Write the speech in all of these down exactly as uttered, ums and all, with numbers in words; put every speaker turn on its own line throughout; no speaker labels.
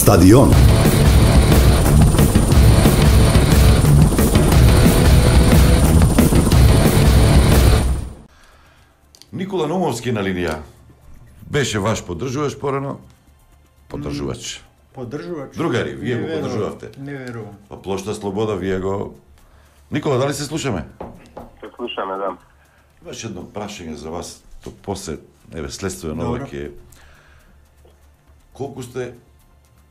Стадион.
Никола Наумовски на линија. Беше ваш поддржуваш порано? Поддржувач.
Поддржувач.
Другари, вие го поддржувавте.
Не верувам.
Па плошта Слобода, вие го... Никола, дали се слушаме?
Се слушаме, да.
Имаш едно прашање за вас, то после, еве, следствено ова ќе... Колку сте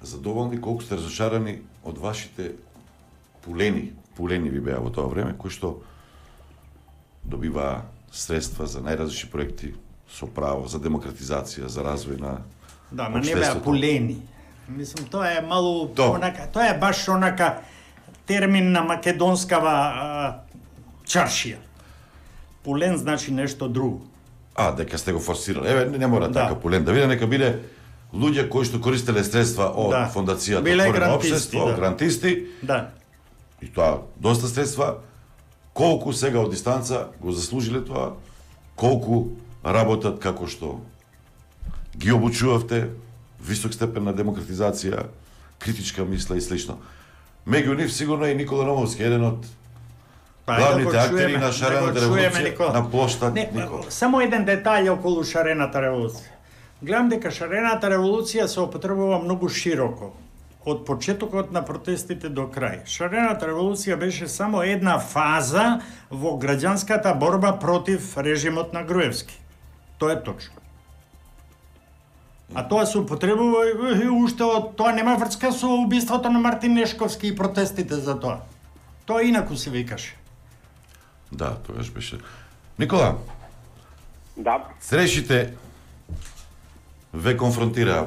задоволни, колку сте разочарани од вашите пулени, пулени ви беа во тоа време, кои што добиваа средства за најразлични проекти со право за демократизација, за развој на
Да, ма не беа пулени. Мислам, тоа е малу
Добре.
онака, тоа е баш онака термин на македонскава а, чаршија. Пулен значи нешто друго.
А, дека сте го форсирали. Еве, не, не мора
Да.
така пулен да биде, нека биде луѓе кои што користеле средства од
Да.
фондацијата
Биле
Отворено
грантисти,
општество,
да.
грантисти,
Да.
и тоа доста средства, колку сега од дистанца го заслужиле тоа, колку работат како што ги обучувавте, висок степен на демократизација, критичка мисла и слично. Меѓу нив сигурно е и Никола Наумовски, еден од
Па,
главните
да го
актери
чуеме,
на
да
шарената
го чуеме,
револуција
Никола.
на плоштад
Не,
Никола.
само еден детаљ околу шарената револуција. Гледам дека шарената револуција се употребува многу широко. Од почетокот на протестите до крај. Шарената револуција беше само една фаза во граѓанската борба против режимот на Груевски. Тоа е точно. А тоа се употребува и уште од тоа нема врска со убиството на Мартин Нешковски и протестите за тоа. Тоа инаку се викаше.
Да, тогаш беше. Никола,
Да,
срешите ве конфронтираа.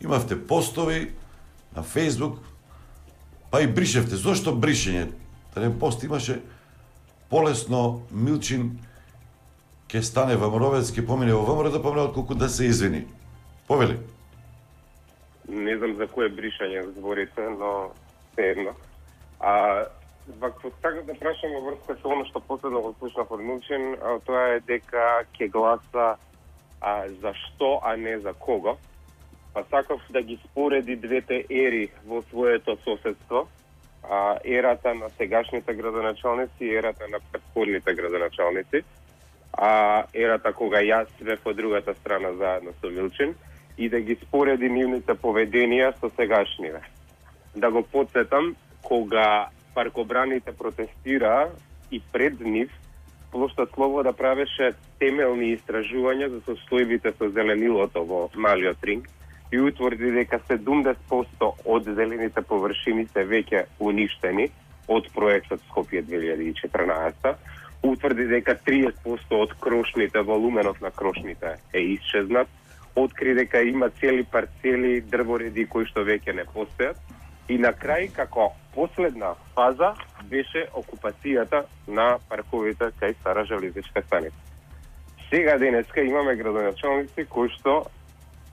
Имавте постови на Фейсбук, па и бришевте. Зошто бришење? Еден пост имаше полесно Милчин ќе стане ВМРО-вец, ќе помине во ВМРО, да помине отколку да се извини. Повели?
не знам за кое бришање зборите, но едно. А вако така да прашам во врска со оно што последно го слушнав од Милчин, а тоа е дека ќе гласа а, за што, а не за кого. Па сакав да ги спореди двете ери во своето соседство, а, ерата на сегашните градоначалници и ерата на претходните градоначалници, а ерата кога јас бев по другата страна заедно со Милчин, и да ги спореди нивните поведенија со сегашниве. Да го подсетам, кога паркобраните протестираа и пред нив, Плошта Слобода правеше темелни истражувања за состојбите со зеленилото во Малиот ринг и утврди дека седумдесет проценти од зелените површини се веќе уништени од проектот Скопје две илјади и четрнаесетта. Утврди дека триесет проценти од крошните, волуменот на крошните е исчезнат. Откри дека има цели парцели, дрвореди кои што веќе не постојат. И на крај, како последна фаза, беше окупацијата на парковите кај Стара железничка станица. Сега денеска имаме градоначалници кои што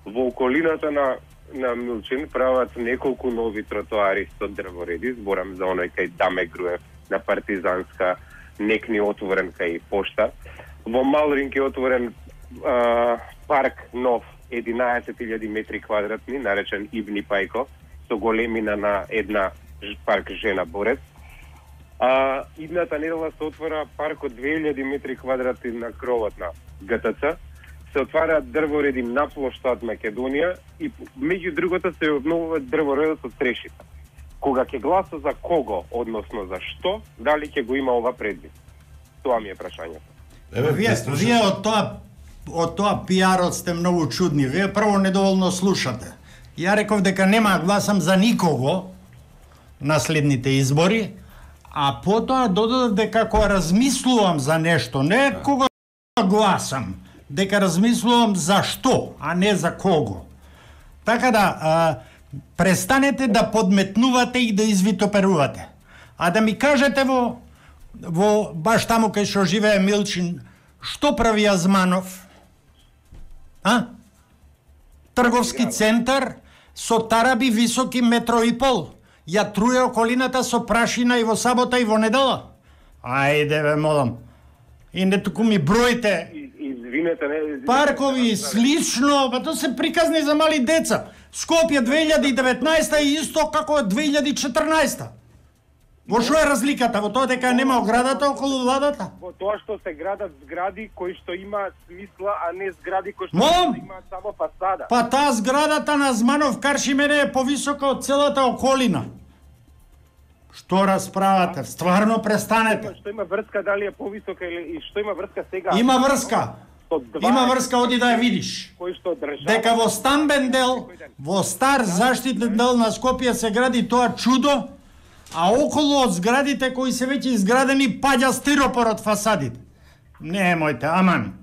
во околината на, на Милчин прават неколку нови тротоари со дрвореди, зборам за оној кај Даме Груев, на Партизанска, некни отворен кај Пошта. Во Малринг е отворен а, парк нов, единаесет илјади метри квадратни, наречен Ибни Пајко, со големина на една парк Жена Борец. А, идната недела се отвора парк од две илјади метри квадратни на кровот на ГТЦ. Се отвараат дрвореди на плоштад Македонија и меѓу другото се обновува дрворедот од Трешица. Кога ќе гласа за кого, односно за што, дали ќе го има ова предвид? Тоа ми е прашањето.
Еве,
Вие, вие од тоа од тоа пиарот сте многу чудни. Вие прво недоволно слушате. Ја реков дека нема да гласам за никого на следните избори, а потоа додадов дека кога размислувам за нешто, не кога гласам, дека размислувам за што, а не за кого. Така да, а, престанете да подметнувате и да извитоперувате. А да ми кажете во, во баш таму кај што живее Милчин, што прави Азманов? А? Трговски центар со тараби високи метро и пол. Ја труе околината со прашина и во сабота и во недела. Ајде ве молам. И не туку ми броите.
извинете, не...
Паркови слично, па тоа се приказни за мали деца. Скопје две илјади и деветнаеста е исто како две илјади и четрнаеста. Во што е разликата? Во тоа дека нема оградата околу владата?
Во тоа што се градат згради кои што има смисла, а не згради кои што
Мом!
имаат само фасада.
Па таа зградата на Зманов Каршимене е повисока од целата околина. Што расправате? Стварно престанете.
Што има врска, дали е повисока или и што има врска сега?
Има врска.
Со два
Има врска, оди да ја видиш.
кои што држава.
Дека во стамбен дел, во стар заштитен дел на Скопје се гради тоа чудо, а околу од зградите кои се веќе изградени паѓа стиропор од фасадите. Немојте, аман.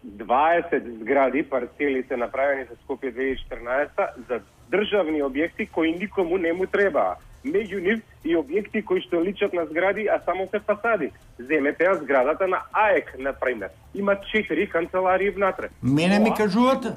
дваесет згради, парцели се направени за Скопје две илјади и четрнаесета за државни објекти кои никому не му требаа. Меѓу нив и објекти кои што личат на згради, а само се фасади. Земете ја зградата на АЕК, например. Има четири канцеларии внатре.
Мене ми кажувате?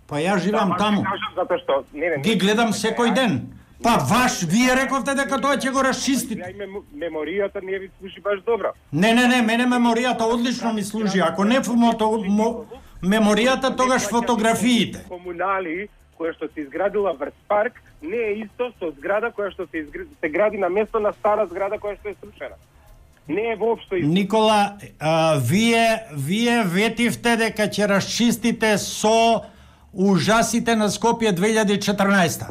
Па ја живеам таму.
Кажам затоа што не, не,
Ги гледам секој ден. Па ваш, вие рековте дека тоа ќе го расчистите.
Ја име меморијата не ви служи баш добро.
Не, не, не, мене меморијата одлично ми служи. Ако не фото, мо, меморијата, тогаш фотографиите.
Комунали која што се изградила врз парк не е исто со зграда која што се изгради, се гради на место на стара зграда која што е срушена. Не е воопшто исто.
Никола, а, вие вие ветивте дека ќе расчистите со ужасите на Скопје две илјади и четрнаесета.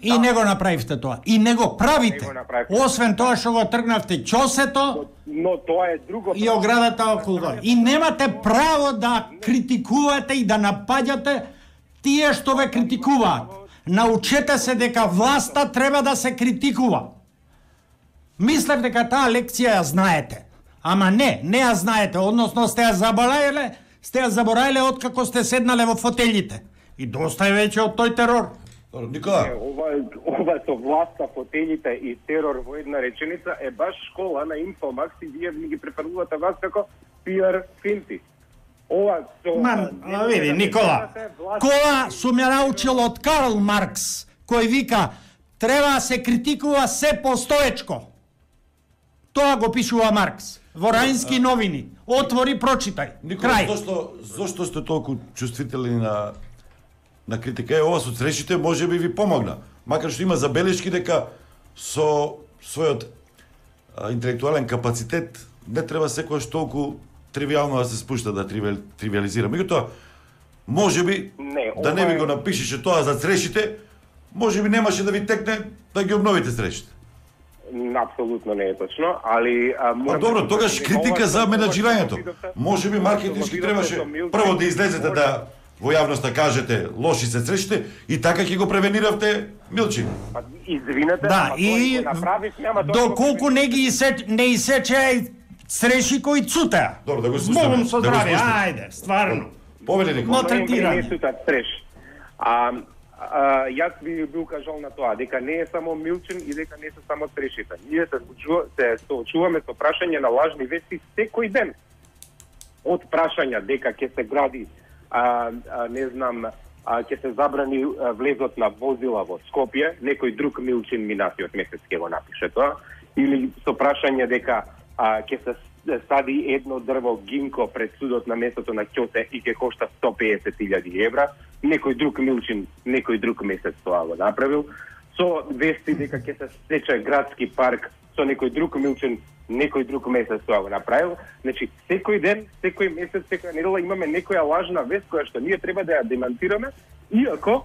И не го направивте тоа. И не го правите.
Не го направивте.
Освен тоа што го тргнавте ќосето
Но тоа е друго.
и оградата околу тоа. И немате право да критикувате и да напаѓате тие што ве критикуваат. Научете се дека власта треба да се критикува. Мислев дека таа лекција ја знаете. Ама не, не ја знаете, односно сте ја забораиле, сте ја забораиле откако сте седнале во фотелите. И доста е веќе од тој терор.
Добро, Никола,
Ова, ова со власта, фотелите и терор во една реченица е баш школа на Инфомакс и вие ми ги префрлувате вас како пиар финти. Ова со...
Ман, а, види, Никола, кола сум ја научил од Карл Маркс, кој вика, треба да се критикува се постоечко. Тоа го пишува Маркс. Во Раински новини. Отвори, прочитај.
Никола,
Крај.
зошто, зошто сте толку чувствителни на на критика? Е, ова со срещите може би ви помогна. Макар што има забелешки дека со својот а, интелектуален капацитет не треба секојаш толку тривијално да се спушта, да тривиал, тривиализира. Меѓутоа, може би,
Не,
да не
ова
ви
е-
го напишеше тоа за срещите, може би немаше да ви текне да ги обновите срещите.
Апсолутно не е точно, али... А,
Па
морам
добро,
да
тогаш
кажам дека
критика
ова
за
што-
менаџирањето.
ова што го видовте-
Може би
ова што
маркетиншки
го
требаше
видовте со Милчин,
прво да излезете
може-
да во јавноста кажете лоши се срещите и така ќе го превениравте Милчин.
Па, извинете,
Да,
ама
и
тој го направив, няма тоа да го
доколку не ги исе, не исече среши кои цутеа.
Добро, да го
Збогом
спуштиме,
со
да го
здравје,
спуштиме.
ајде, стварно.
Повели Никола.
Но- третирање.
Не, не сутат стреш. А, а, јас би бил кажал на тоа, дека не е само Милчин и дека не се само трешите. Ние се, соочува- се соочуваме со прашање на лажни вести секој ден. Од прашања дека ќе се гради, а, а, не знам, а, ќе се забрани а, влезот на возила во Скопје, некој друг Милчин минатиот месец ќе го напише тоа, или со прашање дека а, ќе се сади едно дрво гинко пред судот на местото на Ќоте и ќе кошта сто пеесет илјади евра, некој друг Милчин, некој друг месец тоа го направил, со вести дека ќе се сече градски парк, со некој друг Милчин, некој друг месец тоа го направил. Значи, секој ден, секој месец, секоја недела имаме некоја лажна вест која што ние треба да ја демантираме, иако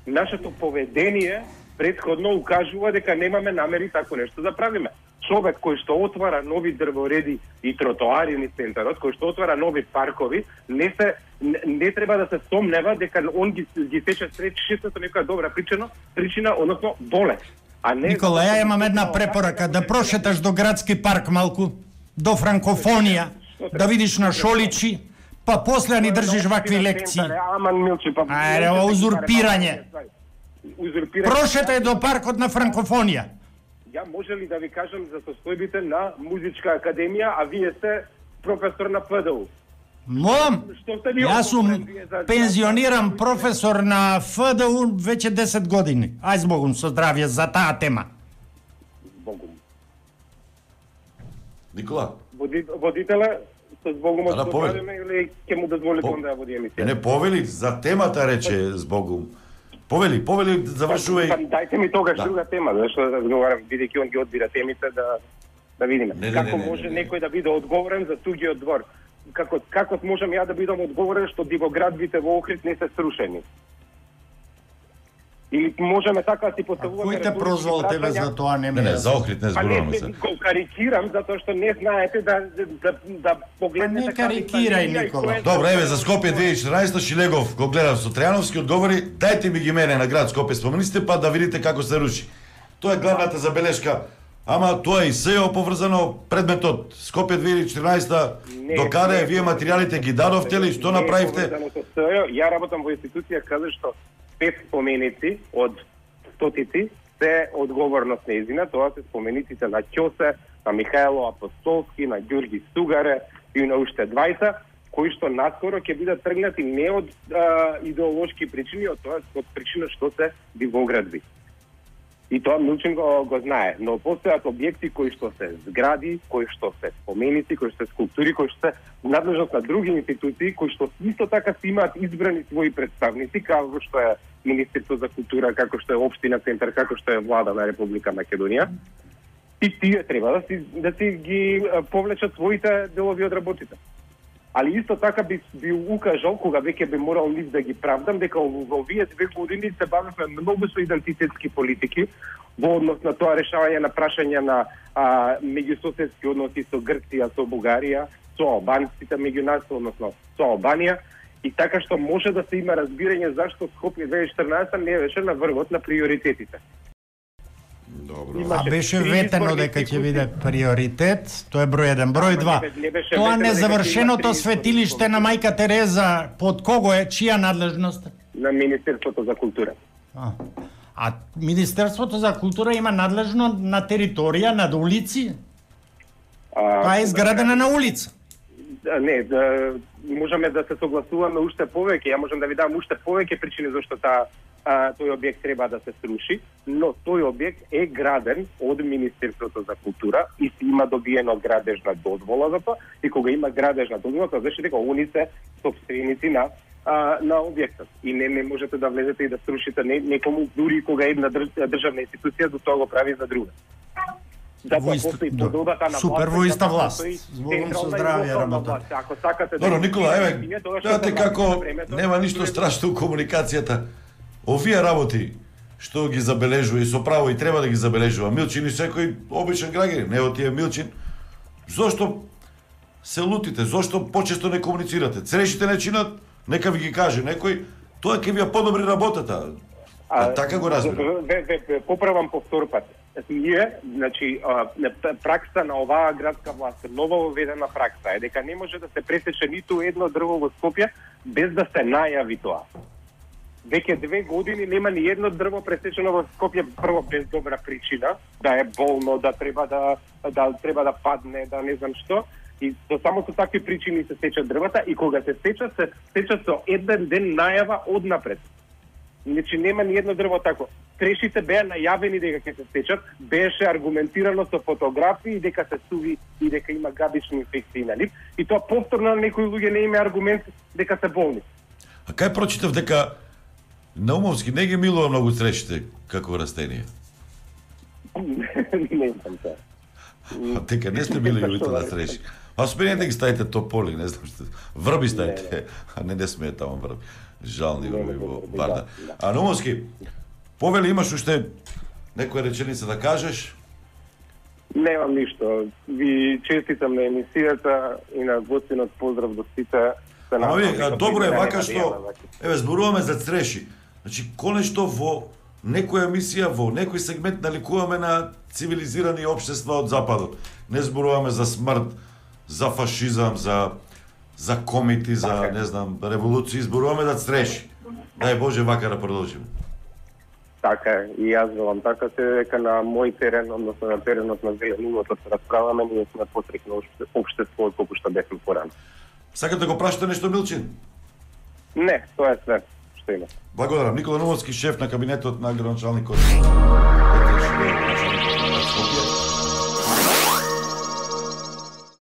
нашето поведение претходно укажува дека немаме намери тако нешто да правиме. Човек кој што отвара нови дрвореди и тротоари низ центарот, кој што отвара нови паркови, не се не, не треба да се сомнева дека он ги ги сече сречишите со некоја добра причина, причина, односно болест. А не
Никола, ја имам една препорака, да прошеташ до градски парк малку, до франкофонија, да видиш на Шоличи, па после ни држиш вакви лекции.
Аман Милчи, па
Ајде, ова узурпирање.
Узурпирање.
Прошетај до паркот на франкофонија.
Ја може ли да ви кажам за состојбите на музичка академија, а вие сте професор на ПДУ?
Молам,
Што сте ви
јас сум
отговорен вие за-
пензиониран професор на Ф Д У веќе десет години. Ај збогум со здравје за таа тема.
Богум.
Никола,
Води- Водителе, со збогум од
Да, да, повели.
Радио или ќе му дозволите
По-
он да ја води емисија?
Не повели, за темата рече збогум. Повели, повели, завршувај.
Па, дајте ми тогаш
Да.
друга тема, зашто да разговарам, бидејќи он ги одбира темите, да да видиме.
Не, не,
Како
не, не,
може
не, не.
некој да биде одговорен за тугиот двор? Како како можам ја да бидам одговорен што дивоградбите во Охрид не се срушени? Или можеме така да си
А
поставуваме...
кој те
риторички
прозвал тебе
прашања?
за тоа, не
Не,
ме
не, за Охрид не
Па не,
зборуваме
не,
се.
го карикирам затоа што не знаете да да да погледнете.
Па не карикирај, Никола.
Добро, еве за Скопје две илјади и четиринаесета Шилегов го гледав со Трајановски, одговори: "Дајте ми ги мене на град Скопје спомените па да видите како се руши." Тоа е главната забелешка. Ама тоа и се е оповрзано предметот Скопје две илјади и четиринаесета.
Не,
Докаде
не,
вие материјалите ги дадовте или што
Не е
направивте?
поврзано со СО. Ја работам во институција каде што пет споменици од стотици се одговорност нејзина, тоа се спомениците на Ќосе, на Михаело Апостолски, на Ѓурги Сугаре и на уште двајца, кои што наскоро ќе бидат тргнати не од а, идеолошки причини, од тоа од причина што се дивоградби. И тоа Милчин го, го знае, но постојат објекти кои што се згради, кои што се споменици, кои што се скулптури, кои што се надлежност на други институции, кои што исто така си имаат избрани своји представници, како што е Министерство за култура, како што е Општина Центар, како што е Влада на Република Македонија. И тие треба да си да си ги а, повлечат своите делови од работите. Али исто така би би укажал кога веќе би морал нив да ги правдам дека во овие две години се бавевме многу со идентитетски политики во однос на тоа решавање на прашања на а, меѓусоседски односи со Грција, со Бугарија, со албанците меѓу нас, односно со Албанија, и така што може да се има разбирање зашто Скопје две илјади и четирнаесета не беше на врвот на приоритетите.
Добро.
А беше
три
ветено
изборни
дека ќе
циклуси.
биде приоритет, тоа е број еден. Број
Ама
два.
не бе- не беше
Тоа
ветено дека ќе има
незавршеното
три
светилиште
изборни
на мајка Тереза, под кого е, чија надлежност?
На Министерството за култура.
А, а Министерството за култура има надлежно на територија, на улици?
А,
Тоа е изградена на улица.
Да, не, да, можеме да се согласуваме уште повеќе. Ја можам да ви дам уште повеќе причини зашто таа а, тој објект треба да се сруши, но тој објект е граден од Министерството за култура и си има добиено градежна дозвола за тоа, и кога има градежна дозвола, тоа значи дека они се собственици на а, на објектот. И не не можете да влезете и да срушите не, некому, дури кога една држ, државна институција до тоа го прави за друга. Затоа
Во иста-
постои
да.
пододата на
Супер,
власт,
во иста
затоа
власт.
постои
Збогум со
централна и
здравје
локална
работа.
власт. Ако сакате да
Добро,
ги
Никола, еве,
скинете, тоа што
гледате
се
како
власти на времето,
нема ништо страшно у комуникацијата. Овие работи што ги забележува и со право и треба да ги забележува Милчин и секој обичен граѓанин, не од тие Милчин. Зошто се лутите? Зошто почесто не комуницирате? Црешите не чинат, нека ви ги каже некој, тоа ќе ви ја подобри работата. А, така го разбирам.
Ве, ве, ве, поправам повтор пат. Ние, значи, а, пракса на оваа градска власт, нова воведена пракса е дека не може да се пресече ниту едно дрво во Скопје без да се најави тоа. Веќе две години нема ни едно дрво пресечено во Скопје, прво без добра причина, да е болно, да треба да да треба да падне, да не знам што. И со само со такви причини се сечат дрвата, и кога се сечат, се сечат со еден ден најава однапред. Значи нема ни едно дрво тако. Трешите беа најавени дека ќе се сечат, беше аргументирано со фотографии дека се суви и дека има габични инфекции на нив, и тоа повторно на некои луѓе не има аргумент дека се болни.
А кај прочитав дека Наумовски не ги милува многу црешите како растение.
Не знам тоа.
А дека не сте били љубител на цреши. А спринете ги ставите тополи, не знам што. Врби ставите, а не не смее таму врби. Жални врби во Барда. А Наумовски, повели имаш уште некоја реченица да кажеш?
Немам ништо. Ви честитам на емисијата и на гостинот поздрав до сите.
Ама ви, добро е вака што, еве, зборуваме за цреши. Значи, конечно во некоја емисија, во некој сегмент наликуваме на цивилизирани општества од Западот. Не зборуваме за смрт, за фашизам, за за комити, за, не знам, револуции, зборуваме за цреши. Дај Боже вака да продолжиме.
Така е, и јас велам така се дека на мој терен, односно на теренот на Зеленувото се расправаме, ние сме посрекно општество колку што бевме порано.
Сакате да го прашате нешто, Милчин?
Не, тоа е све што има.
Благодарам. Никола Наумовски, шеф на кабинетот на градоначалникот. Скопје.